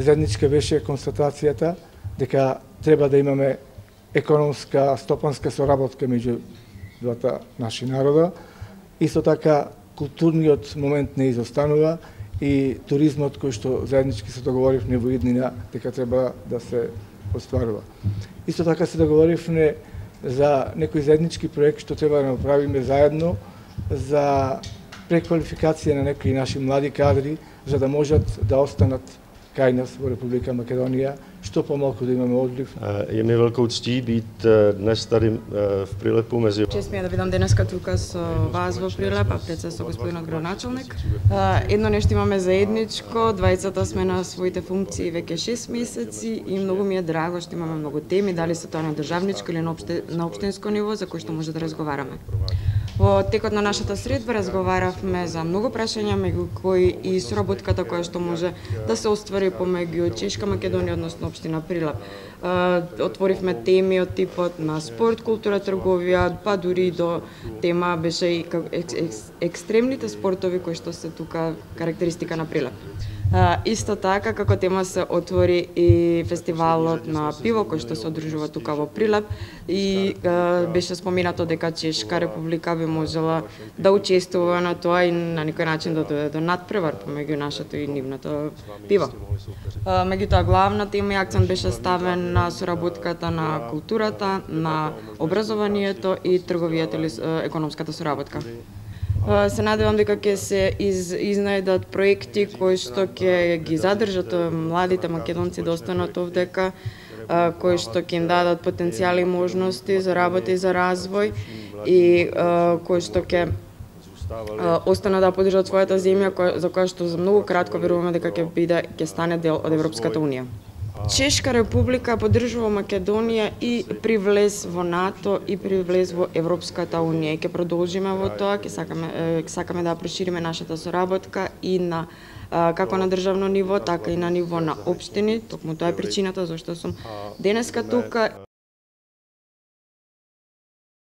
заедничка беше констатацијата дека треба да имаме економска, стопанска соработка меѓу двата наши народа. Исто така, културниот момент не изостанува и туризмот кој што заеднички се договоривме во иднина дека треба да се остварува. Исто така се договоривме за некој заеднички проект што треба да направиме заедно за преквалификација на некои наши млади кадри за да можат да останат кај нас во Република Македонија, што помалку да имаме одлив. Je mi veľkou ctí být dnes tady v Prilepu mezi... Čest mi je da видам денеска тука со вас во Прилеп, а пред се со господинот градоначалник. Едно нешто имаме заедничко, двајцата сме на своите функции веќе 6 месеци и многу ми е драго што имаме многу теми, дали се тоа на државничко или на општинско ниво за кои што може да разговараме. Во текот на нашата средба разговаравме за многу прашања, меѓу кои и соработката која што може да се оствари помеѓу Чешка Македонија, односно општина Прилеп. Отворивме теми од типот на спорт, култура, трговија, па дури до тема беше и екстремните спортови кои што се тука карактеристика на Прилеп. Исто така, како тема се отвори и фестивалот на пиво кој што се одржува тука во Прилеп и беше споменато дека Чешка Република би можела да учествува на тоа и на некој начин да дојде до надпревар помеѓу нашето и нивното пиво. Меѓутоа, главна тема и акцент беше ставен на соработката на културата, на образованието и трговијата или економската соработка. Се надевам дека ќе се изнајдат проекти кои што ќе ги задржат младите македонци да останат овдека, кои што ќе им дадат потенцијали и можности за работа и за развој и кои што ќе останат да поддржат својата земја за која што за многу кратко веруваме дека ќе стане дел од Европската унија. Чешка Република поддржува Македонија и при влез во НАТО и при влез во Европската унија. Ќе продолжиме во тоа, ќе сакаме да прошириме нашата соработка и на како на државно ниво, така и на ниво на општини. Токму тоа е причината зашто сум денеска тука.